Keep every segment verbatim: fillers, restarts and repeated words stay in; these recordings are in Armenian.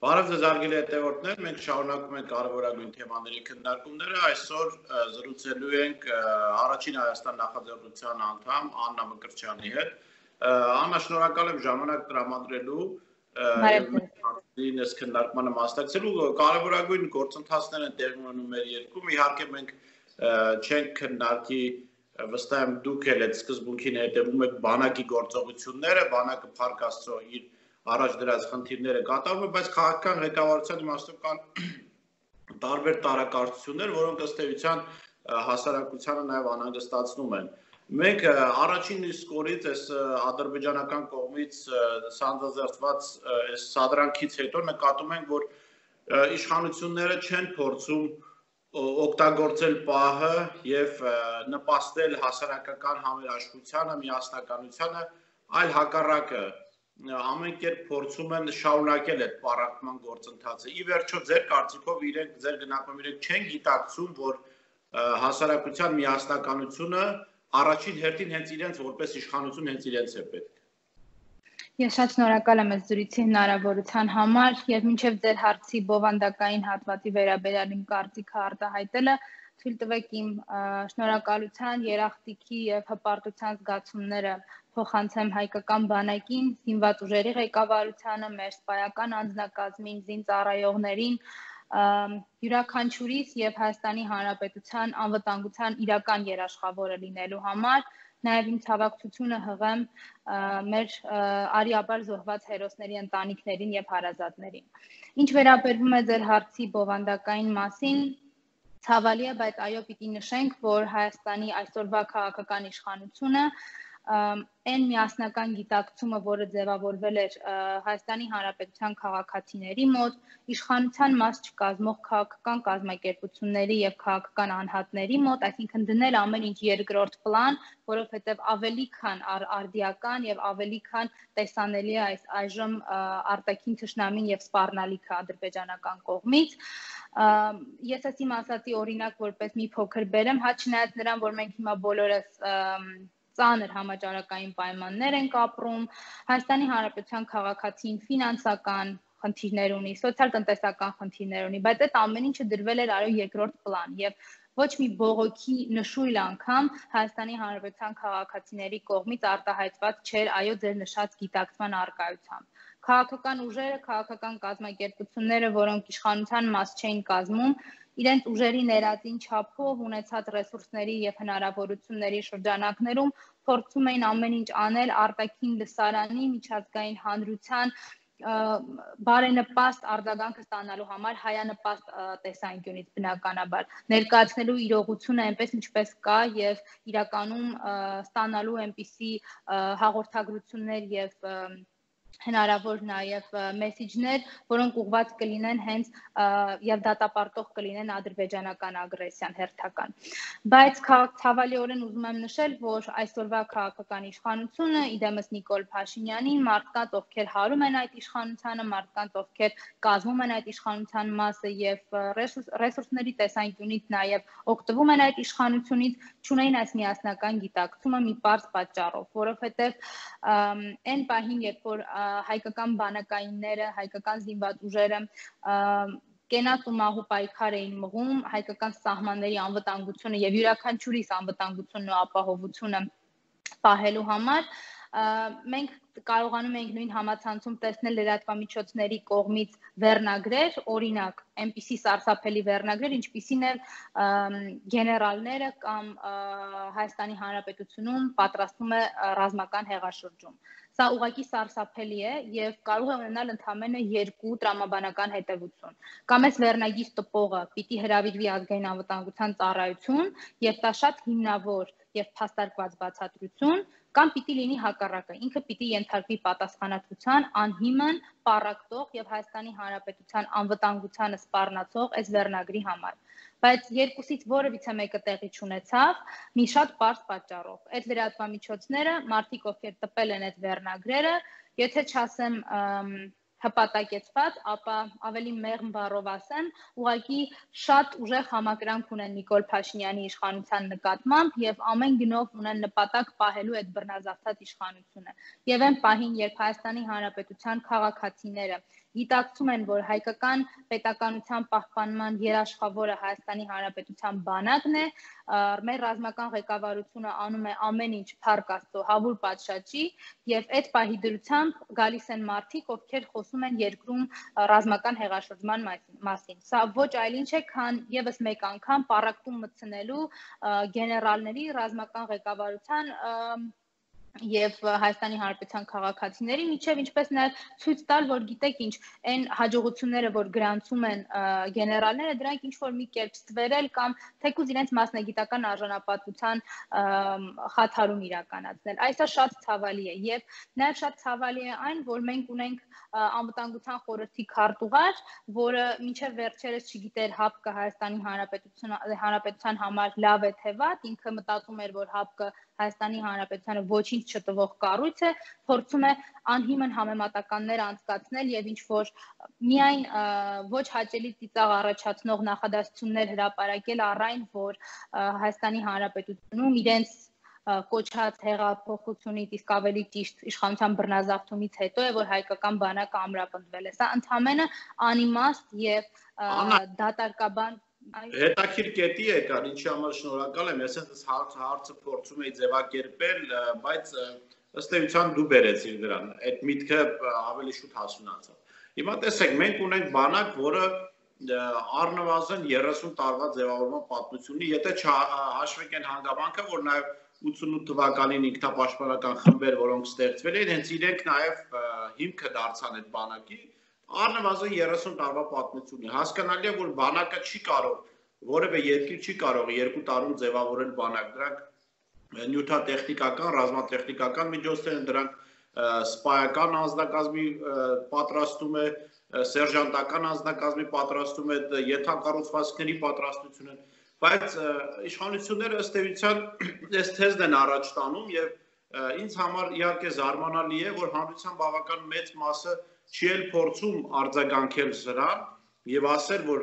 Բարև ձեզ հարգելի հետևորդներ, մենք շարունակում ենք կարևորագույն թեմաների քննարկումները, այսօր զրուցելու ենք առաջին Հայաստան նախաձեռնության անդամ Աննա Մկրտչյանի հետ։ Աննա, շնորհակալ եմ ժամանակ տրամադրելու եւ այս քննարկմանը մասնակցելու։ Կարևորագույն գործընթացներ են տեղի ունենում մեր երկրում, իհարկե մենք չենք քննարկի վստահ եմ դուք էլ այդ սկզբունքին հետևում եք բանակի գործողությունները, բանակը փառք Աստծո իր առաջ դրած խնդիրները կատարվում, բայց քաղաքական ղեկավարության իմաստով կան տարբեր տարակարծություններ, որոնք ըստ էության հասարակությանը նաև անհանգստացնում են։ Մենք առաջին իսկ օրից այս ադրբեջանական կողմից սանձազերծված այս սադրանքից հետո նկատում ենք, որ իշխանությունները չեն փորձում օգտագործել պահը եւ նպաստել հասարակական համերաշխությանը, միասնականությանը, այլ հակառակը ամեն կերպ փորձում են շարունակել այդ պառակտման գործընթացը։ Ի վերջո ձեր կարծիքով իրենք ձեր գնահատմամբ իրենք չեն գիտակցում, որ հասարակության միասնականությունը առաջին հերթին հենց իրենց որպես իշխանություն հենց իրենց է պետք։ Ես շատ շնորհակալ եմ այս զրույցի հնարավորության համար եւ մինչեւ ձեր հարցի բովանդակային հատվածի վերաբերյալ իմ կարծիքը արտահայտելը թույլ տվեք իմ շնորհակալության, երախտիկի եւ հպարտության զգացումները փոխանցեմ հայկական բանակին, զինված ուժերի ղեկավարությանը, մեր սպայական անձնակազմին, զինծառայողներին, յուրաքանչյուրիս եւ Հայաստանի Հանրապետության անվտանգության իրական երաշխավորը լինելու համար, նաեւ իմ ցավակցությունը հղեմ մեր արիաբար զոհված հերոսների ընտանիքներին եւ հարազատներին։ Ինչ վերաբերվում է ձեր հարցի բովանդակային մասին, ցավալի է, բայց այո, պիտի նշենք, որ Հայաստանի այսօրվա քաղաքական իշխանությունը այն միասնական գիտակցումը, որը ձևավորվել էր Հայաստանի Հանրապետության քաղաքացիների մոտ, իշխանության մաս չկազմող քաղաքական կազմակերպությունների եւ քաղաքական անհատների մոտ, այսինքն դնել ամեն ինչ երկրորդ պլան, որովհետեւ ավելի քան արդիական եւ ավելի քան տեսանելի է այս այժմ արտաքին թշնամին եւ սպառնալիքը ադրբեջանական կողմից։ Ես այս իմ ասացի օրինակ որպես մի փոքր բերեմ, հա չնայած նրան, որ մենք հիմա բոլորս ծանր համաճարակային պայմաններ ենք ապրում, Հայաստանի Հանրապետության քաղաքացին ֆինանսական խնդիրներ ունի, սոցիալ-տնտեսական խնդիրներ ունի, բայց այդ ամեն ինչը դրվել էր այո երկրորդ պլան եւ ոչ մի բողոքի նշույլ անգամ Հայաստանի Հանրապետության քաղաքացիների կողմից արտահայտված չէր այո ձեր նշած գիտակցման առկայությամբ։ Քաղաքական ուժերը, քաղաքական կազմակերպությունները, որոնք իշխանության մաս չէին կազմում, իրենց ուժերի ներածին չափով ունեցած ռեսուրսների եւ հնարավորությունների շրջանակներում փորձում էին ամեն ինչ անել արտաքին լսարանի, միջազգային հանրության բարենպաստ արձագանքը ստանալու համար հայանպաստ տեսանկյունից բնականաբար ներկայացնելու իրողությունը այնպես ինչպես կա եւ իրականում ստանալու այնպիսի հաղորդագրություններ եւ հնարավոր նաև մեսիջներ, որոնք ուղղված կլինեն հենց եւ դատապարտող կլինեն ադրբեջանական ագրեսիան հերթական։ Բայց ցավալիորեն ուզում եմ նշել, որ այսօրվա քաղաքական իշխանությունը, իդեմս Նիկոլ Փաշինյանին, մարդկանց, ովքեր հարում են այդ իշխանությանը, մարդկանց, ովքեր կազմում են այդ իշխանության մասը եւ ռեսուրսների տեսանկյունից նաև օգտվում են այդ իշխանությունից, չունեն այս միասնական գիտակցումը մի պարզ պատճառով, որովհետեւ այն պահին, երբ որ հայկական բանակայինները, հայկական զինված ուժերը կենաց ու մահու պայքար էին մղում հայկական սահմանների անվտանգությունը եւ յուրաքանչյուրիս անվտանգությունն ու ապահովությունը պահելու համար, մենք կարողանում ենք նույն համացանցում տեսնել լրատվամիջոցների կողմից վերնագրեր, օրինակ, այնպիսի սարսափելի վերնագրեր, ինչպիսին է գեներալները կամ Հայաստանի Հանրապետությունում պատրաստվում է ռազմական հեղաշրջում։ Սա ուղղակի սարսափելի է եւ կարող է ունենալ ընդամենը երկու տրամաբանական հետեւություն։ Կամ այս վերնագիր տպողը պիտի հրավիրվի ազգային անվտանգության ծառայություն եւ դա շատ հիմնավոր եւ փաստարկված բացատրություն, կամ պիտի լինի հակառակը, ինքը պիտի ենթարկվի պատասխանատվության անհիմն, պառակտող եւ Հայաստանի Հանրապետության անվտանգությանը սպառնացող այս վերնագրի համար։ Բայց երկուսից որևիցե մեկը տեղի չունեցավ մի շատ պարզ պատճառով։ Այդ լրատվամիջոցները, մարդիկ, ովքեր տպել են այդ վերնագրերը, եթե չասեմ հպատակեցված, ապա ավելի մեղմ բառով ասեմ, ուղղակի շատ ուժեղ համակրանք ունեն Նիկոլ Փաշինյանի իշխանության նկատմամբ եւ ամեն գնով ունեն նպատակ պահելու այդ բռնազավթած իշխանությունը։ Եվ այն պահին, երբ Հայաստանի Հանրապետության քաղաքացիները գիտակցում են, որ հայկական պետականության պահպանման երաշխավորը Հայաստանի Հանրապետության բանակն է, մեր ռազմական ղեկավարությունը անում է ամեն ինչ փառք Աստծո հավուր պատշաճի, եւ այդ պահի դրությամբ գալիս են մարդիկ, ովքեր խոսում են երկրում ռազմական հեղաշրջման մասին։ Սա ոչ այլ ինչ է, քան եւս մեկ անգամ պառակտում մտցնելու գեներալների ռազմական ղեկավարության եւ Հայաստանի Հանրապետության քաղաքացիների միջև, ինչպես նաեւ ցույց տալ, որ գիտեք ինչ, այն հաջողությունները, որ գրանցում են գեներալները, դրանք ինչ որ մի կերպ ստվերել կամ թեկուզ իրենց մասնագիտական արժանապատվության խաթարում իրականացնել։ Այսա շատ ցավալի է եւ նաեւ շատ ցավալի է այն, որ մենք ունենք անվտանգության խորհրդի քարտուղար, որը մինչև վերջերս չգիտեր ՀԱՊԿ-ը Հայաստանի Հանրապետության համար լավ է թե վատ, ինքը մտածում էր, որ ՀԱՊԿ-ը Հայաստանի Հանրապետությանը ոչինչ չտվող կառույց է, փորձում է անհիմն համեմատականներ անցկացնել եւ ինչ որ միայն ոչ հաճելի ծիծաղ առաջացնող նախադասություններ հրապարակել առ այն, որ Հայաստանի Հանրապետությունում իրենց կոչած հեղափոխությունից, իսկ ավելի ճիշտ իշխանության բռնազավթումից հետո է, որ հայկական բանակը ամրապնդվել է։ Սա ընդհանրապես անիմաստ եւ դատարկաբան Հետաքրքիր կետի եկան, ինչի համար շնորհակալ եմ, ես այս հարցը փորձում էի ձևակերպել, բայց ըստ էության դու բերեցիր դրան, այդ միտքը ավելի շուտ հասունացավ։ Հիմա տեսեք, մենք ունենք բանակ, որը առնվազն երեսուն տարվա ձևավորման պատմություն ունի, եթե չհաշվենք այն հանգամանքը, որ նաև ութսունութ թվականին ինքնապաշտպանական խմբեր, որոնք ստեղծվել են, հենց իրենք նաև հիմքը դարձան այդ բանակի, առնվազն երեսուն տարվա պատմություն է։ Հասկանալի է, որ բանակը չի կարող, որևէ երկիր չի կարող երկու տարում ձևավորել բանակ, դրանք նյութատեխնիկական, ռազմատեխնիկական միջոցներ են, դրանք սպայական անձնակազմի պատրաստում է, սերժանտական անձնակազմի պատրաստում է, ենթակառուցվածքների պատրաստություն է, բայց իշխանությունները ըստ էության այս թեզն են առաջ տանում եւ ինձ համար իհարկե զարմանալի է, որ հանրության բավական մեծ մասը չի էլ փորձում արձագանքել սրան եւ ասել, որ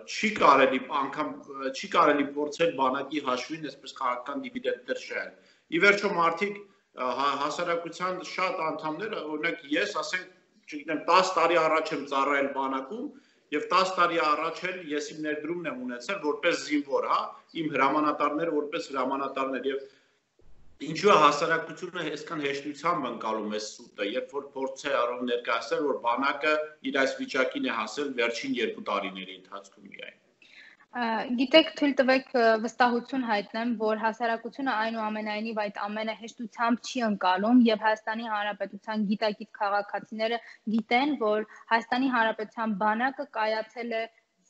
չի կարելի անգամ չի կարելի փորձել բանակի հաշվին այսպես քաղաքական դիվիդենդներ շահել։ Ի վերջո մարդիկ հասարակության շատ անդամներ, օրինակ ես, ասենք, չգիտեմ, տասը տարի առաջ եմ ծառայել բանակում եւ տասը տարի առաջ էլ ես իմ ներդրումն եմ ունեցել որպես զինվոր, հա, իմ հրամանատարները որպես հրամանատարներ եւ ինչու է հասարակությունը այսքան հեշտությամբ ընկալում է սուտը, երբ որ փորձ է արում ներկայացնել, որ բանակը իր այս վիճակին է հասել վերջին երկու տարիների ընթացքում միայն։ Գիտեք, թույլ տվեք վստահություն հայտնեմ, որ հասարակությունը այնուամենայնիվ այդ ամենը հեշտությամբ չի ընկալում եւ Հայաստանի Հանրապետության գիտակից քաղաքացիները գիտեն, որ Հայաստանի Հանրապետության բանակը կայացել է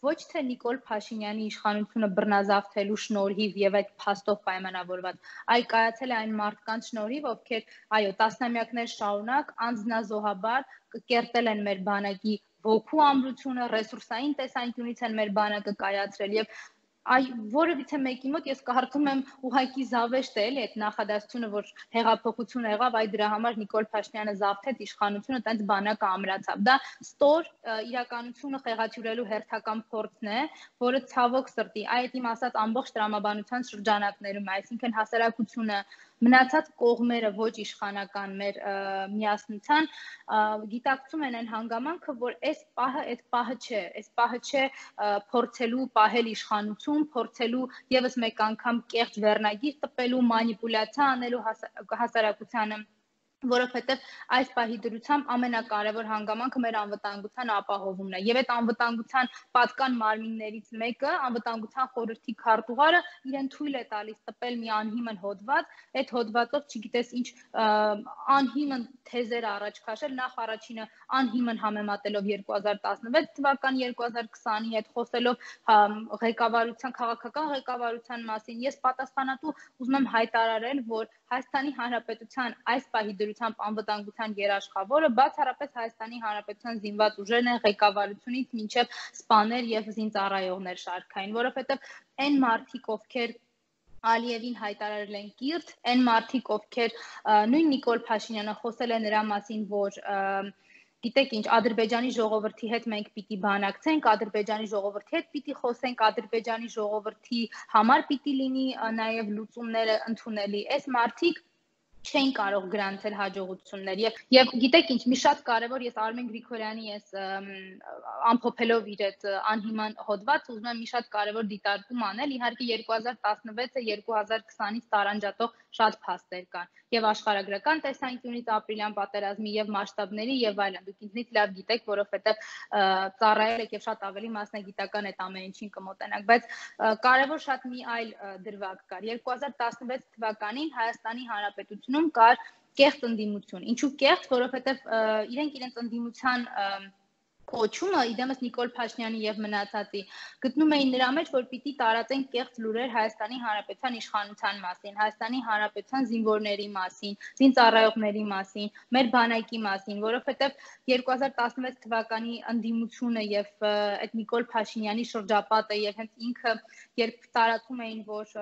ոչ թե Նիկոլ Փաշինյանի իշխանությունը բռնազավթելու շնորհիվ եւ այդ փաստով պայմանավորված, այլ կայացել է այն մարդկանց շնորհիվ, ովքեր, այո, տասնամյակներ շարունակ անձնազոհաբար կերտել են մեր բանակի ոգու ամրությունը, ռեսուրսային տեսանկյունից են մեր բանակը կայացրել եւ այ որևիցե մեկի մոտ ես կարծում եմ ուղղակի զավեշտ է էլի այդ նախադասությունը, որ հեղափոխություն եղավ, այ դրա համար Նիկոլ Փաշինյանը զավթեց իշխանությունը, տենց բանակը ամրացավ։ Դա ստոր իրականությունը խեղաթյուրելու հերթական փորձն է, որը ցավոք սրտի, այդ իմ ասած ամբողջ տրամաբանության շրջանակներում, այսինքն հասարակությունը, մնացած կողմերը ոչ իշխանական մեր միասնության գիտակցում են այն հանգամանքը, որ այս պահը այդ պահը չէ, այս պահը չէ փորձելու պահել իշխանություն, փորձելու եւս մեկ անգամ կեղծ վերնագիր տպելու, մանիպուլյացիա անելու հասարակությանը, որովհետև այս պահի դրությամբ ամենակարևոր հանգամանքը մեր անվտանգության ապահովումն է եւ այդ անվտանգության պատկան մարմիններից մեկը անվտանգության խորհրդի քարտուղարը իրեն թույլ է տալիս տպել մի անհիմն հոդված, այդ հոդվածով չգիտես ինչ անհիմն թեզեր առաջ քաշել, նախ առաջինը անհիմն համեմատելով երկու հազար տասնվեց թվական երկու հազար քսանի հետ, խոսելով ղեկավարության քաղաքական ղեկավարության մասին, ես պատասխանատու ուզում եմ հայտարարել, որ Հայաստանի Հանրապետության այս պահի դրությամբ անվտանգության երաշխավորը բացառապես Հայաստանի Հանրապետության զինված ուժերն են ղեկավարությունից մինչև սպաներ եւ զինծառայողներ շարքային, որովհետեւ այն մարդիկ, ովքեր Ալիևին հայտարարել են կիրթ, այն մարդիկ, ովքեր նույն Նիկոլ Փաշինյանը խոսել է նրա մասին, որ գիտեք ինչ, Ադրբեջանի ժողովրդի հետ մենք պիտի բանակցենք, Ադրբեջանի ժողովրդի հետ պիտի խոսենք, Ադրբեջանի ժողովրդի համար պիտի լինի նաև լուծումները ընդունելի։ Այս մարդիկ չեն կարող գրանցել հաջողություններ եւ եւ գիտեք ինչ մի շատ կարեւոր ես Արմեն Գրիգորյանի ես ամփոփելով իր այդ անհիման հոդված ուզում եմ մի շատ կարեւոր դիտարկում անել իհարկե երկու հազար տասնվեցը երկու հազար քսանից տարանջատող շատ փաստեր կան եւ աշխարհագրական տեսանկյունից ապրիլյան պատերազմի եւ մասշտաբների եւ այլն դուք ինձնից լավ գիտեք որովհետեւ ծառայել եք եւ շատ ավելի մասնագիտական այդ ամեն ինչին կմոտենաք բայց կարեւոր շատ մի այլ դրվագ կար երկու հազար տասնվեց թվականին Հայաստանի Հանրապետությունում կար կեղծ ընդդիմություն ինչու կեղծ որովհետեւ իրենք իրենց ընդդիմության կոչումը իդեմս Նիկոլ Փաշինյանի եւ մնացածի գտնում էին նրա մեջ որ պիտի տարածեն կեղծ լուրեր Հայաստանի Հանրապետության իշխանության մասին, Հայաստանի Հանրապետության զինվորների մասին, զինծառայողների մասին, մեր բանակի մասին, որովհետեւ երկու հազար տասնվեց թվականի ընդդիմությունը եւ այդ Նիկոլ Փաշինյանի շրջապատը եւ հենց ինքը երբ տարածում էին որ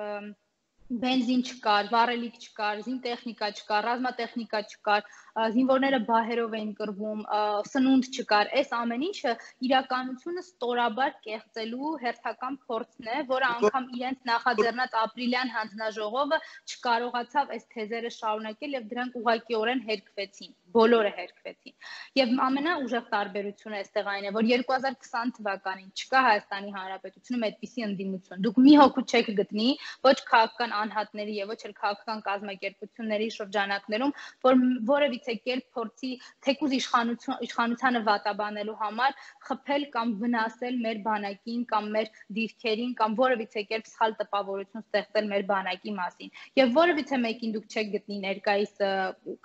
բենզին չկար, վառելիք չկար, զինտեխնիկա չկար, ռազմատեխնիկա չկար, զինվորները բահերով էին կռվում, սնունդ չկար, այս ամեն ինչը իրականությունը ստորաբար կեղծելու հերթական փորձն է, որը անգամ իրենց նախաձեռնած ապրիլյան հանձնաժողովը չկարողացավ այս թեզերը շարունակել եւ դրանք ուղղակիորեն հերքվեցին, բոլորը հերքվեցին։ Եվ ամենաուժեղ տարբերությունը այստեղ այն է, որ երկու հազար քսան թվականին չկա Հայաստանի Հանրապետությունում այդպիսի ընդդիմություն։ Դուք մի հոգու չեք գտնի, ոչ քաղաքական անհատների եւ ոչ էլ քաղաքական կազմակերպությունների շրջանակներում, որ որևիցե կերպ փորձի թեկուզ իշխանություն իշխանությանը վատաբանելու համար խփել կամ վնասել մեր բանակին կամ մեր դիրքերին կամ որևիցե կերպ սխալ տպավորություն ստեղծել մեր բանակի մասին։ Եվ որևիցե մեկին դուք չեք գտնի ներկայիս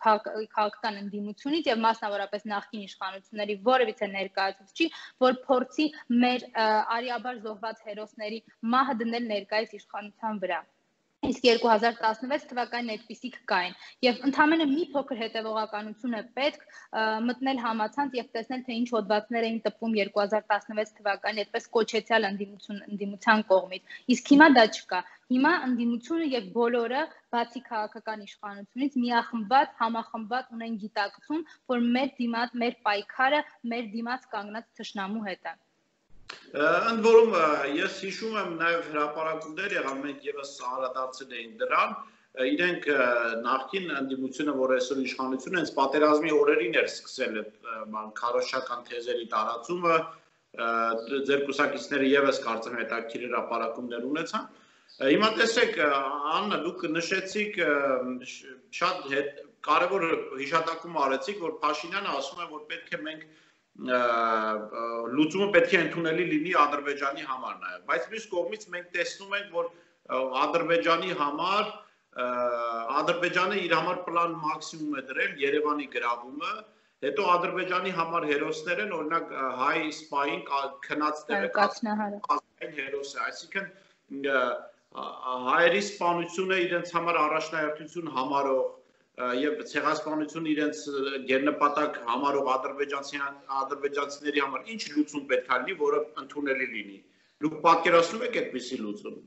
քաղաքական ընդդիմությունից եւ մասնավորապես նախկին իշխանությունների որևիցե ներկայացուցիչի, որ փորձի մեր արիաբար զոհված հերոսների մահը դնել ներկայիս իշխանության վրա։ Իսկ երկու հազար տասնվեց թվականին այդպիսիք կային եւ ընդհանրապես մի փոքր հետեւողականություն է պետք մտնել համացանց եւ տեսնել թե ինչ հոդվածներ էին տպվում երկու հազար տասնվեց թվականին այդպես կոչեցյալ ընդդիմություն ընդդիմության կողմից իսկ հիմա դա չկա հիմա ընդդիմությունը եւ բոլորը բացի քաղաքական իշխանությունից միախմբված համախմբված ունեն գիտակցում որ մեր դիմաց մեր պայքարը մեր դիմաց կանգնած թշնամու հետ է Ընդ որում ես հիշում եմ նաև հրապարակումներ եղան մենք եւս անդրադարձել էին դրան իրենք նախկին ընդդիմությունը որ այսօր իշխանություն հենց պատերազմի օրերին էր սկսել այդ բան քարոշչական թեզերի տարածումը ձեր կուսակիցները եւս կարծեմ հետաքրքիր հրապարակումներ ունեցան հիմա տեսեք Աննա դուք նշեցիք շատ կարևոր հիշատակում արեցիք որ Փաշինյանը ասում է որ պետք է մենք լուծումը պետք է ընդունելի լինի Ադրբեջանի համար նաև, բայց մյուս կողմից մենք տեսնում ենք, որ Ադրբեջանի համար Ադրբեջանը իր համար պլան մաքսիմում է դրել Երևանի գրավումը, հետո Ադրբեջանի համար հերոսներ են, օրինակ հայ սպային քնած տեղը կազմային հերոս է, այսինքն հայերի սպանությունը իրենց համար առաջնահերթություն համարող եւ ցեղասպանությունը իրենց գերնպատակ համարող ադրբեջանցիների համար ինչ լուծում պետք է լինի, որը ընդունելի լինի։ Դուք պատկերացնում եք այդպիսի լուծում։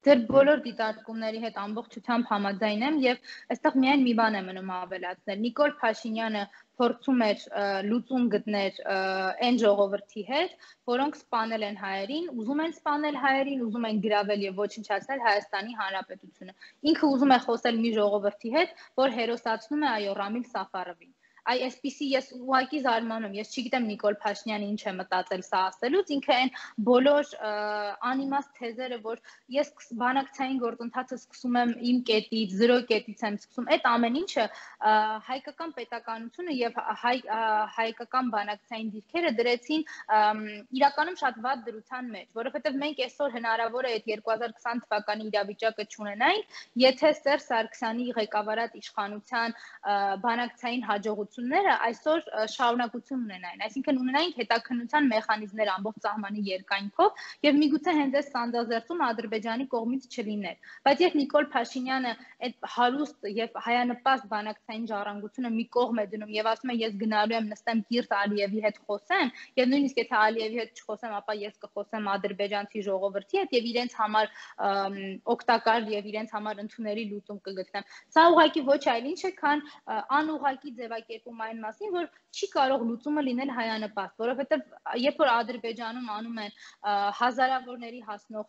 Ձեր բոլոր դիտարկումների հետ ամբողջությամբ համաձայն եմ եւ այստեղ միայն մի բան է մնում ավելացնել։ Նիկոլ Փաշինյանը փորձում էր լուծում գտնել այն ժողովրդի հետ, որոնք սպանել են հայերին, ուզում են սպանել հայերին, ուզում են գրավել եւ ոչնչացնել Հայաստանի Հանրապետությունը։ Ինքը ուզում է խոսել մի ժողովրդի հետ, որ հերոսացնում է այո Ռամիլ Սաֆարովին։ Այ այսպիսի ես ուղղակի զարմանում, ես չգիտեմ Նիկոլ Փաշինյանը ինչ է մտածել սա ասելուց, ինքը այն բոլոր անիմաստ թեզերը, որ ես բանակցային գործընթացը սկսում եմ իմ կետից, զրո կետից եմ սկսում, այդ ամեն ինչը հայկական պետականությունը եւ հայ հայկական բանակցային դիրքերը դրեցին իրականում շատ վատ դրության մեջ, որովհետեւ մենք այսօր հնարավոր է այդ երկու հազար քսան թվականի իրավիճակը չունենայինք, եթե Սերժ Սարգսյանի ղեկավարած իշխանության բանակցային հաջողություն այսօր շարունակություն ունենային, այսինքն ունենային հետաքննության մեխանիզմներ ամբողջ սահմանի երկայնքով եւ միգուցե հենց այս սանձազերծում Ադրբեջանի կողմից չլիներ, բայց երբ Նիկոլ Փաշինյանը այդ հարուստ եւ հայանպաստ բանակցային ժառանգությունը մի կողմ է դնում եւ ասում է ես գնալու եմ նստեմ Կիրթ Ալիևի հետ խոսեմ եւ նույնիսկ եթե Ալիևի հետ չխոսեմ, ապա ես կխոսեմ ադրբեջանցի ժողովրդի հետ եւ իրենց համար օգտակար եւ իրենց համար ընդունելի լուծում կգտնեմ։ Սա ուղղակի ոչ այլ ինչ է, քան անուղղակի ձևակերպ տեղեկում այն մասին, որ չի կարող լուծումը լինել հայանպաստ, որովհետև երբ որ Ադրբեջանում անում են հազարավորների հասնող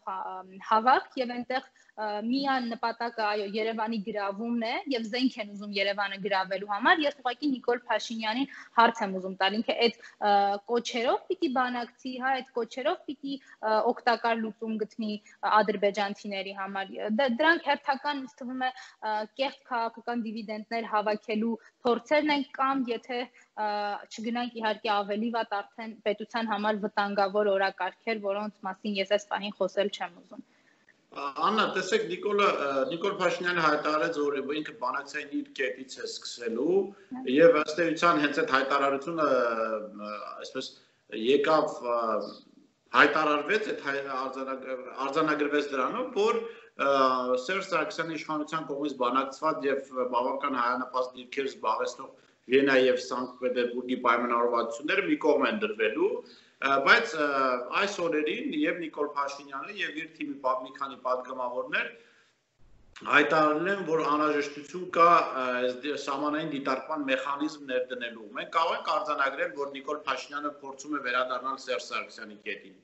հավաք եւ այնտեղ միան նպատակը այո Երևանի գրավումն է եւ զենք են ուզում Երևանը գրավելու համար, ես ուղղակի Նիկոլ Փաշինյանին հարց եմ ուզում տալ, ինքը այդ կոչերով պիտի բանակցի, հա, այդ կոչերով պիտի օգտակար լուծում գտնի ադրբեջանցիների համար։ Դրանք հերթական ինձ թվում է կեղծ քաղաքական դիվիդենտներ հավաքելու փորձերն են կամ եթե չգնանք իհարկե ավելի վատ արդեն պետության համար վտանգավոր օրակարգեր, որոնց մասին ես այս պահին խոսել չեմ ուզում։ Աննա, տեսեք, Նիկոլը Նիկոլ Փաշինյանը հայտարարեց, որ ինքը բանակցային իր կետից է սկսելու եւ ըստ էության հենց այդ հայտարարությունը այսպես եկավ հայտարարվեց, այդ արձանագրվեց դրանով, որ Սերժ Սարգսյանի իշխանության կողմից բանակցված եւ բավական հայանպաստ դիրքեր զբաղեցնող Վիեննա եւ Սանկտ Պետերբուրգի պայմանավորվածությունները մի կողմ են դրվելու, բայց այս օրերին եւ Նիկոլ Փաշինյանը եւ իր թիմի մի քանի պատգամավորներ հայտարարել են, որ անհրաժեշտություն կա սահմանային դիտարկման մեխանիզմ ներդնելու։ Մենք կարող ենք արձանագրել, որ Նիկոլ Փաշինյանը փորձում է վերադառնալ Սերժ Սարգսյանի կետին։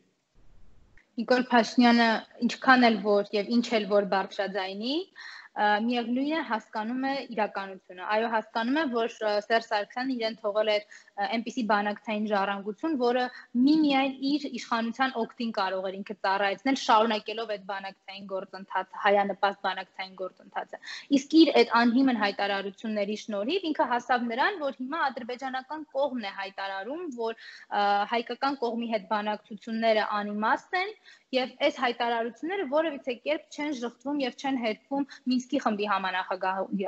Նիկոլ Փաշինյանը ինչքան էլ որ եւ ինչ էլ որ բարձրաձայնի, միևնույն է հասկանում է իրականությունը։ Այո, հասկանում է, որ Սերժ Սարգսյանը իրեն թողել է այնպիսի բանակցային ժառանգություն, որը միմիայն իր իշխանության օգտին կարող էր ինքը ծառայեցնել, շարունակելով այդ բանակցային գործընթացը, հայանպաստ բանակցային գործընթացը։ Իսկ իր այդ անհիմն հայտարարությունների շնորհիվ ինքը հասավ նրան, որ հիմա ադրբեջանական կողմն է հայտարարում, որ հայկական կողմի հետ բանակցությունները անիմաստ են եւ այս հայտարարությունները որևիցե կերպ չեն շղթվում եւ չեն հետքում Մինսկի խմբի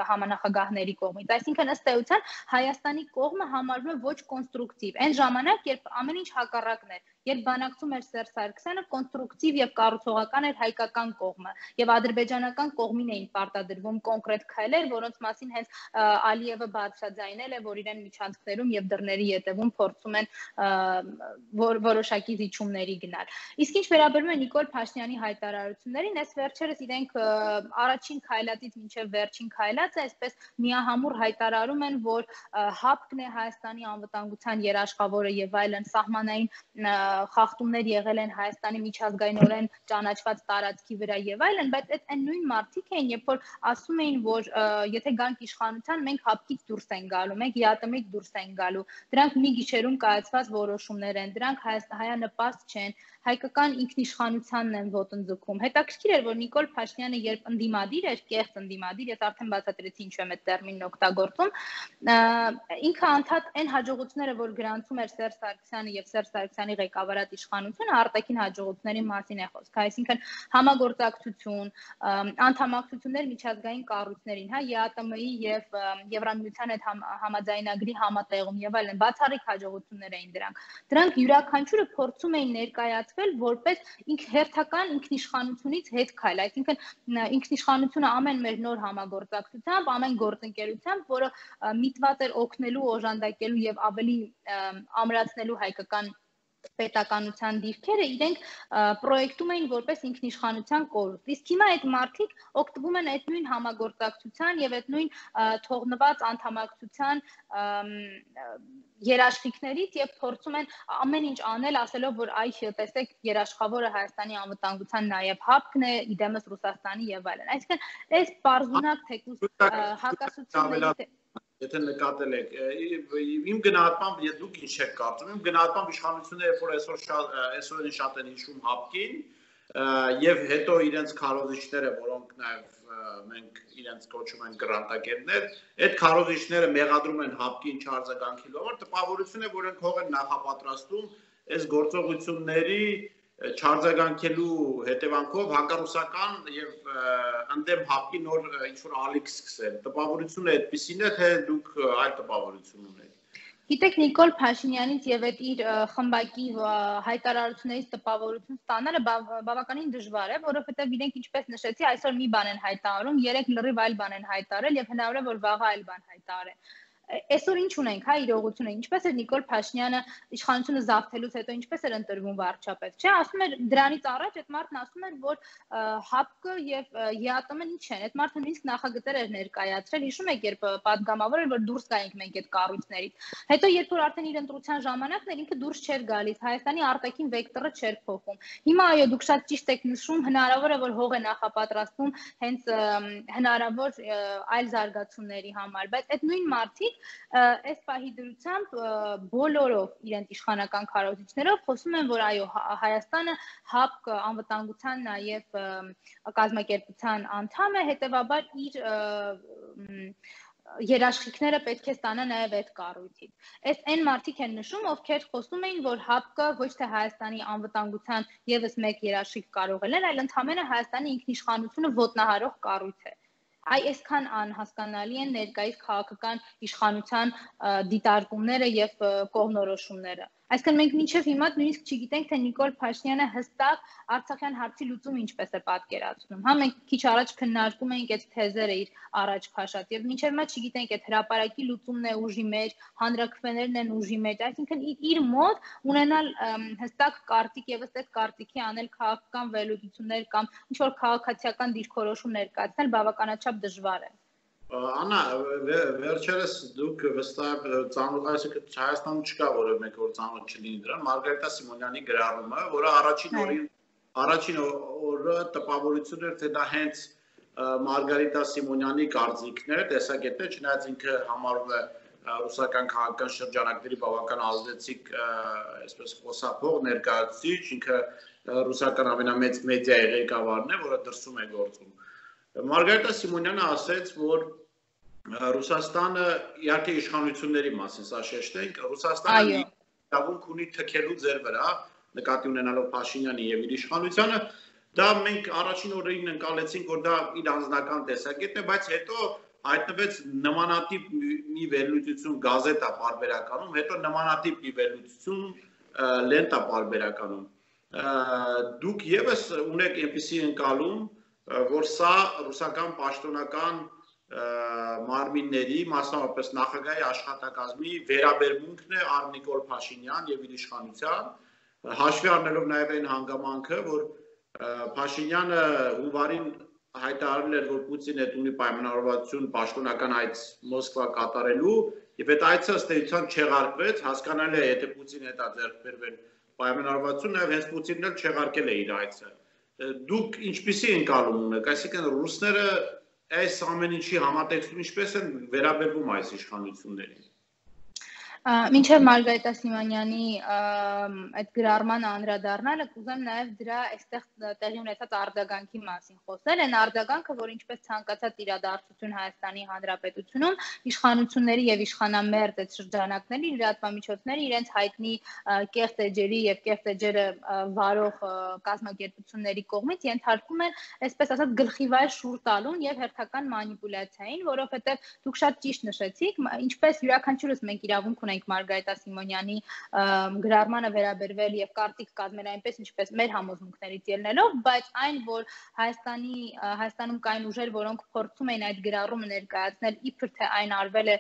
համանախագահների կողմից։ Այսինքն ըստ էության Հայաստանի կողմը համարվում է ոչ կոնստրուկտիվ։ Այն ժամանակ, երբ ամեն ինչ հակառակն էր, երբ բանակցում էր Սերժ Սարգսյանը, կոնստրուկտիվ եւ կառուցողական էր հայկական կողմը եւ ադրբեջանական կողմին էին պարտադրվում կոնկրետ քայլեր, որոնց մասին հենց Ալիևը բարձրաձայնել է, որ իրեն միջանցքներում եւ դռների ետևում փորձում են որոշակի զիջումների գնալ։ Իսկ ինչ վերաբերում է Նիկոլ Փաշինյանի հայտարարություններին, այս վերջերս իրենք առաջին քայլածից մինչև վերջին քայլածը այսպես միահամուռ հայտարարում են, որ ՀԱՊԿ-ն է Հայաստանի անվտանգության երաշխավորը եւ այլն, սահմանային խախտումներ եղել են Հայաստանի միջազգայինորեն ճանաչված տարածքի վրա եւ այլն, բայց այդ այն նույն մարդիկ են, երբ որ ասում էին, որ եթե գանք իշխանության, մենք ՀԱՊԿ-ից դուրս ենք գալու, մենք ԵԱՏՄ-ից դուրս ենք գալու։ Դրանք մի գիշերում կայացված որոշումներ են, դրանք հայանպաստ չեն, հայկական ինքնիշխանությանն են ոտնձգում։ Հետաքրքիր էր, որ Նիկոլ Փաշինյանը երբ ընդդիմադիր էր, կեղծ ընդդիմադիր, ես արդեն բացատրեցի ինչու եմ այդ տերմինն օգտագործում, ինքը անդադ այն հաջողությունները, որ գրանցում էր Սերժ Սարգսյանը եւ Սերժ Սարգսյանի ղեկավարած իշխանությունը, արտաքին հաջողությունների մասին է խոսքը, այսինքն համագործակցություն, անդամակցություններ միջազգային կառույցներին, հա, ԵԱՏՄ-ի եւ Եվրամիության հետ համաձայնագրի համատեղում եւ այլն, բացառիկ հաջողություններ էին դրանք։ Դրանք յուրաքանչյուրը փորձում էին ներկայացվել որպես հերթական ինքնիշխանությունից հետ քայլ, այսինքն ինքնիշխանությունը ամեն մեր նոր համագործակցությամբ, ամեն գործընկերությամբ, որը միտված էր օգնելու, օժանդակելու եւ ավելի ամրացնելու հայկական պետականության դիրքերը, իրենք պրոյեկտում էին որպես ինքնիշխանության կորուստ։ Իսկ հիմա այդ մարդիկ օգտվում են այդ նույն համագործակցության եւ այդ նույն թողնված անդամակցության երաշխիքներից եւ փորձում են ամեն ինչ անել, ասելով, որ այ տեսեք, երաշխավորը Հայաստանի անվտանգության նաեւ ՀԱՊԿ-ն է, իդեմս Ռուսաստանի եւ այլն։ Այսինքն, այս պարզունակ թեկուզ հակասությունների Եթե նկատել եք, իմ գնահատմամբ, եթե դուք ինչ եք կարծում, իմ գնահատմամբ իշխանությունը, երբ որ այսօրին շատ են հիշում ՀԱՊԿ-ին եւ հետո իրենց քարոզիչները, որոնք նաեւ մենք իրենց կոչում են գրանտակերներ, այդ քարոզիչները մեղադրում են ՀԱՊԿ-ին չարձագանքելով, տպավորություն է, որ են հող են նախապատրաստում այս գործողությունների չարձագանքելու հետևանքով հակառուսական եւ ընդդեմ ՀԱՊԿ-ի նոր ինչ-որ ալիք սկսել։ Տպավորությունը այդպեսին է, թե դուք այլ տպավորություն ունեք։ Գիտեք, Նիկոլ Փաշինյանից եւ այդ իր խմբակի հայտարարություններից տպավորություն ստանալը բավականին դժվար է, որովհետեւ իրենք ինչպես նշեցի, այսօր մի բան են հայտարարում, երեք լրիվ այլ բան են հայտարարել եւ հնարավոր է որ վաղը այլ բան հայտարարեն։ այսօր ինչ ունենք, հա, իրողությունը, ինչպես էր Նիկոլ Փաշինյանը իշխանությունը զավթելուց հետո ինչպես էր ընտրվում վարչապետ, չէ, ասում էր դրանից առաջ այդ մարդն ասում էր, որ ՀԱՊԿ եւ ԵԱՏՄ-ն ինչ են, այդ մարդը նույնիսկ նախագծեր էր ներկայացրել, հիշում եք, երբ պատգամավոր էր, որ դուրս գայինք մենք այդ կառույցներից։ Հետո երբ որ արդեն իր ընտրության ժամանակն էր, ինքը դուրս չէր գալիս, Հայաստանի արտաքին վեկտորը չէր փոխում։ Հիմա այո, դուք շատ ճիշտ եք նշում, հնարավոր է, որ հող է նախապատրաստվում հենց հնարավոր այլ զարգացումների համար, բայց այդ նույն մարդիկ այս պահի դրությամբ բոլորով իրենց իշխանական քարոզիչներով խոսում են, որ այո, Հայաստանը ՀԱՊԿ անվտանգության նաև կազմակերպության անդամ է, հետևաբար իր երաշխիքները պետք է ստանա նաև այդ կառույցից։ Այս այն մարդիկ են նշում, ովքեր խոսում էին, որ ՀԱՊԿ ոչ թե Հայաստանի անվտանգության եւս մեկ երաշխիք կարող է լինել, այլ ընդհանրապես Հայաստանի ինքնիշխանությունը ոտնահարող կառույց է։ Այ այսքան անհասկանալի են ներկայիս քաղաքական իշխանության դիտարկումները եւ կողմնորոշումները։ Այսինքն մենք մինչև հիմա նույնիսկ չգիտենք, թե Նիկոլ Փաշինյանը հստակ Արցախյան հարցի լուծումը ինչպես է պատկերացնում։ Հա մենք քիչ առաջ քննարկում էինք այդ թեզերը իր առաջ քաշած եւ մինչև հիմա չգիտենք այդ հրապարակի լուծումն է ուժի մեջ, հանրաքվեներն են ուժի մեջ, այսինքն իր մոտ ունենալ հստակ կարտիկ եւս այդ կարտիկի անել քաղաքական վերլուծություններ կամ ինչ որ քաղաքացիական դիրքորոշում ներկայացնել բավականաչափ դժվար է։ Անա, վերջերս դուք վստահ ծանոթ, այսինքն Հայաստանում չկա որևէ մեկ որ ծանոթ չլինի դրան, Մարգարիտա Սիմոնյանի գրառումը, որը առաջին օրին առաջին օրը տպավորություն էր, թե դա հենց Մարգարիտա Սիմոնյանի կարծիքն է, տեսակետն է, չնայած ինքը համարում է ռուսական քաղաքական շրջանակների բավական ազդեցիկ, այսպես խոսափող ներկայացուցիչ, ինքը ռուսական ամենամեծ մեդիայի ղեկավարն է, որը դրսում է գործում։ Մարգարիտա Սիմոնյանը ասաց, որ Ռուսաստանը իհարկե իշխանությունների մասին, սա շեշտենք, Ռուսաստանը իրավունք ունի թքելու ձեր վրա, նկատի ունենալով Փաշինյանի եւ իր իշխանությանը, դա մենք առաջին օրերին ընկալեցինք, որ դա իր անձնական տեսակետն է, բայց հետո հայտնվեց նմանատիպ մի վերլուծություն գազետա պարբերականում, հետո նմանատիպ մի վերլուծություն լենտա պարբերականում։ Դուք եւս ունեք այնպիսի ընկալում, որ սա ռուսական պաշտոնական մարմինների, մասնավորապես նախագահի աշխատակազմի վերաբերմունքն է առ Նիկոլ Փաշինյան եւ իր իշխանության, հաշվի առնելով նաեւ այն հանգամանքը, որ Փաշինյանը հունվարին հայտարարել էր, որ Պուտինը ունի պայմանավորվածություն պաշտոնական այց Մոսկվա կատարելու, եւ այդ այցը ըստ էության չեղարկվեց, հասկանալի է, եթե Պուտինը հետա ձեռք բերվեն պայմանավորվածություն, նաեւ հենց Պուտինն էլ չեղարկել է իր այցը։ Դուք ինչպիսի ընկալում ունեք, այսինքն ռուսները այս ամեն ինչի համատեքստում ինչպես են վերաբերվում այս իշխանություններին։ Մինչև Մարգարիտա Սիմոնյանի այդ գրառմանը անդրադառնալը կուզեմ նաև դրա այստեղ տեղի ունեցած արձագանքի մասին խոսել, այն արձագանքը, որ ինչպես ցանկացած իրադարձություն Հայաստանի Հանրապետությունում իշխանությունների եւ իշխանամերձ այդ շրջանակների լրատվամիջոցները իրենց հայտնի կեղծ էջերի եւ կեղծ էջերը վարող կազմակերպությունների կողմից ենթարկում են, այսպես ասած, գլխիվայր շուռ տալուն եւ հերթական մանիպուլյացիային, որովհետեւ դուք շատ ճիշտ նշեցիք, ինչպես յուրաքանչյուրս մենք իրավունք ունենք Մարգարիտա Սիմոնյանի գրառմանը վերաբերվել եւ կարտիկ կազմել այնպես, ինչպես մեր համոզմունքներից ելնելով, բայց այն, որ Հայաստանի Հայաստանում կային ուժեր, որոնք փորձում էին այդ գրառումը ներկայացնել իբր թե այն արվել է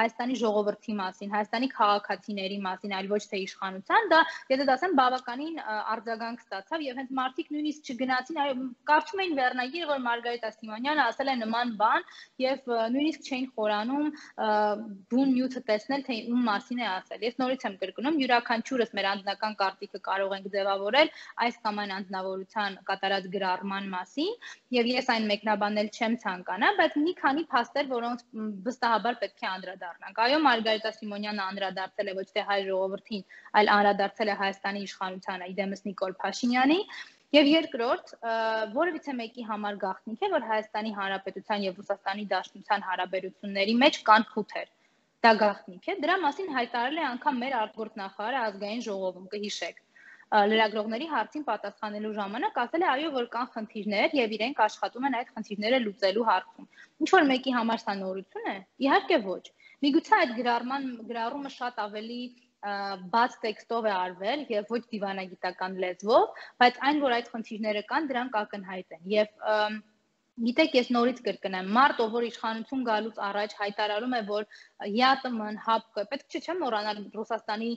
Հայաստանի ժողովրդի մասին, Հայաստանի քաղաքացիների մասին, այլ ոչ թե իշխանության, դա, եթե դասեմ, բավականին արձագանք ստացավ եւ հենց մարդիկ նույնիսկ չգնացին, այո, կարծում էին վերնագիրը, որ Մարգարիտա Սիմոնյանը ասել է նման բան եւ նույնիսկ չէին խորանում բուն նյութը տեսնել, թե ում մասին է ասել։ Ես նորից եմ կրկնում, յուրաքանչյուրս մեր անձնական կարտիկը կարող ենք ձևավորել այս կամ այն անձնավորության կատարած գրառման մասին, եւ ես այն մեկնաբանել չեմ ցանկանա, բայց մի քանի փաստեր, որոնց վստահաբար պետք է անդրադառնանք։ Այո, Մարգարիտա Սիմոնյանը անդրադարձել է ոչ թե հայ ժողովրդին, այլ անդրադարձել է Հայաստանի իշխանությանը, իդեմս Նիկոլ Փաշինյանի։ Եվ երկրորդ, որևիցե մեկի համար գաղտնիք է, որ Հայաստանի Հանրապետության եւ Ռուսաստանի Դաշնության հարաբերությունների մեջ կան խութեր։ Դա գաղտնիք է, դրա մասին հայտարարել է անգամ մեր արտգործնախարարը ազգային ժողովում, կհիշեք։ Լրագրողների հարցին պատասխանելու ժամանակ ասել է, այո, որ կան խնդիրներ եւ իրենք աշխատում են այդ խնդիրները լուծելու հարցում։ Ինչ որ մեկի համար սա նորություն է։ Իհարկե ոչ։ Միգուցե այդ գրառման գրառումը շատ ավելի բաց տեքստով է արվել եւ ոչ դիվանագիտական լեզվով, բայց այն, որ այդ խնդիրները կան, դրանք ակնհայտ են եւ Գիտեք, ես նորից կրկնեմ, մարդ, ով որ իշխանություն գալուց առաջ հայտարարում է, որ ԵԱՏՄ-ն, ՀԱՊԿ-ը, պետք չէ մոռանալ Ռուսաստանի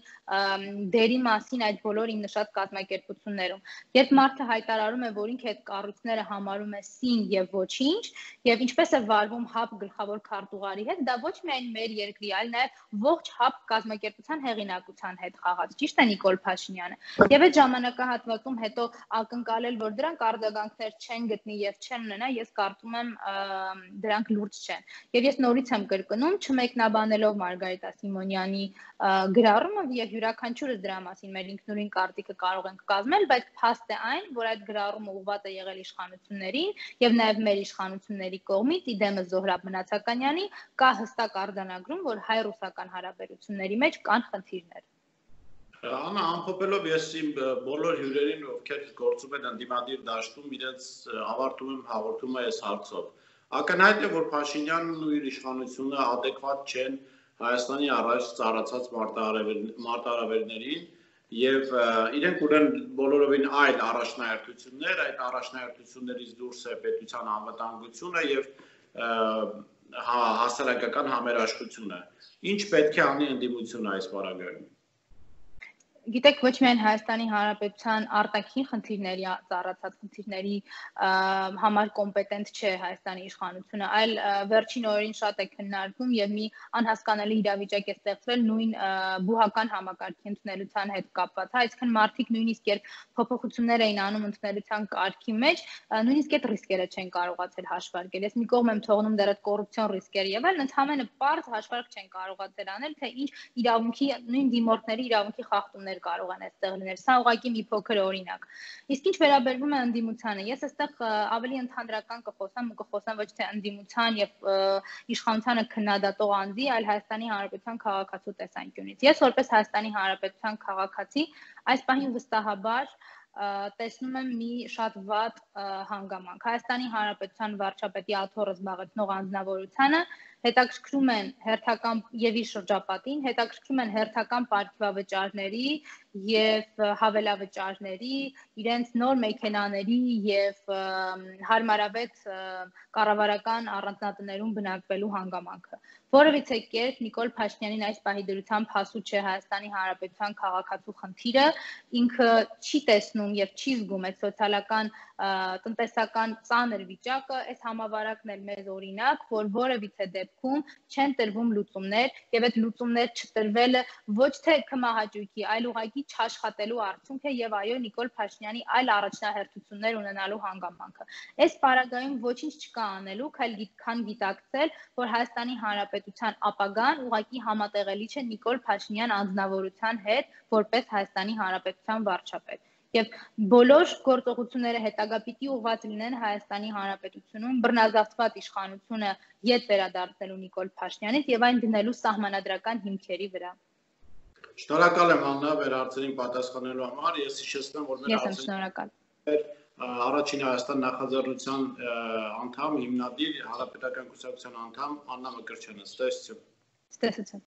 դերի մասին այդ բոլոր իմ նշած կազմակերպություններում։ Երբ մարդը հայտարարում է, որ ինքը այդ կառույցները համարում է սին եւ ոչինչ, եւ ինչպես է վարվում ՀԱՊԿ գլխավոր քարտուղարի հետ, դա ոչ միայն մեր երկրի, այլ նաեւ ողջ ՀԱՊԿ կազմակերպության հեղինակության հետ խաղաց։ Ճիշտ է Նիկոլ Փաշինյանը։ Եվ այդ ժամանակահատվածում հետո ակնկալել, որ դրանք արձագանքներ չեն գտնի եւ չեն ունենա, ես կարծում եմ դրանք լուրջ չեն։ Եվ ես նորից եմ կրկնում, չմեկնաբանելով Մարգարիտա Սիմոնյանի գրառումը եւ յուրաքանչյուրս դրա մասին մեր ինքնուրույն կարծիքը կարող ենք կազմել, բայց փաստ է այն, որ այդ գրառումը ուղղված է եղել իշխանություններին եւ նաեւ մեր իշխանությունների կողմից իդեմը Զոհրաբ Մնացականյանի կա հստակ արձանագրում, որ հայ-ռուսական հարաբերությունների մեջ կան խնդիրներ։ Անա, ամփոփելով ես իմ բոլոր հյուրերին, ովքեր գործում են ընդդիմադիր դաշտում, իրենց ավարտում եմ հաղորդումը այս հարցով։ Ակնհայտ է, որ Փաշինյանն ու իր իշխանությունը adekvat չեն Հայաստանի առաջ ծառացած մարտահրավերներին եւ իրենք ունեն բոլորովին այլ առաջնահերթություններ, այդ առաջնահերթություններից դուրս է պետության անվտանգությունը եւ հասարակական համերաշխությունը։ Ինչ պետք է անի ընդդիմությունը այս պարագայում։ Գիտեք, ոչ միայն Հայաստանի Հանրապետության արտաքին խնդիրների ծառացած խնդիրների համար կոմպետենտ չէ Հայաստանի իշխանությունը, այլ վերջին օրերին շատ է քննարկվում եւ մի անհասկանալի իրավիճակ է ստեղծվել նույն բուհական համակարգի ընդունելության հետ կապված։ Այսինքն մարդիկ նույնիսկ երբ փոփոխություններ էին անում ընդունելության կարգի մեջ, նույնիսկ այդ ռիսկերը չեն կարողացել հաշվարկել։ Ես մի կողմ եմ թողնում դեռ այդ կոռուպցիոն ռիսկերը եւ այլն, ընդհանրապես պարզ հաշվարկ չեն կարողացել անել, թե ինչ իրավունքի նույն դիմորդների իրավունքի խախտումներ կարող են այստեղ լինել։ Սա ուղղակի մի փոքր օրինակ։ Իսկ ինչ վերաբերվում է ընդդիմությանը, ես այստեղ ավելի ընդհանրական կխոսամ ու կխոսամ ոչ թե ընդդիմության եւ իշխանությանը քննադատող անձի, այլ Հայաստանի Հանրապետության քաղաքացու տեսանկյունից։ Ես որպես Հայաստանի Հանրապետության քաղաքացի այս պահին վստահաբար տեսնում եմ մի շատ վատ հանգամանք։ Հայաստանի Հանրապետության վարչապետի աթոռը զբաղեցնող անձնավորությանը հետաքրքրում են հերթական եւ իր շրջապատին, հետաքրքրում են հերթական պարգևավճարների եւ հավելավճարների, իրենց նոր մեքենաների եւ հարմարավետ կառավարական առանձնատներում բնակվելու հանգամանքը։ Որովհետեւ կերպ Նիկոլ Փաշինյանին այս պահի դրությամբ հասու չէ Հայաստանի Հանրապետության քաղաքացու խնդիրը, ինքը չի տեսնում եւ չի զգում այդ սոցիալական տնտեսական ծանր վիճակը, այս համավարակն էլ մեզ օրինակ, որ որևիցե դեպքում չեն տրվում լուծումներ եւ այդ լուծումներ չտրվելը ոչ թե կմահաճույքի, այլ ուղղակի չաշխատելու արդյունք է եւ այո Նիկոլ Փաշինյանի այլ առաջնահերթություններ ունենալու հանգամանքը։ Այս պարագայում ոչինչ չկա անելու, քան գիտակցել, որ Հայաստանի Հանրապետության ապագան ուղղակի համատեղելի չէ Նիկոլ Փաշինյան անձնավորության հետ, որպես Հայաստանի Հանրապետության վարչապետ։ Եվ բոլոր գործողությունները հետագա պիտի ուղղված լինեն Հայաստանի Հանրապետությունում բռնազավթված իշխանությունը ետ վերադարձնելու Նիկոլ Փաշինյանից եւ այն դնելու սահմանադրական հիմքերի վրա։ Շնորհակալ եմ Աննա վերհարցերին պատասխանելու համար։ Ես հիշեցնեմ, որ մեր Ես եմ շնորհակալ։ Առաջին Հայաստան նախաձեռնության անդամ, հիմնադիր, Հանրապետական կուսակցության անդամ Աննա Մկրտչյանը։ Ստեսություն։ Ստեսություն։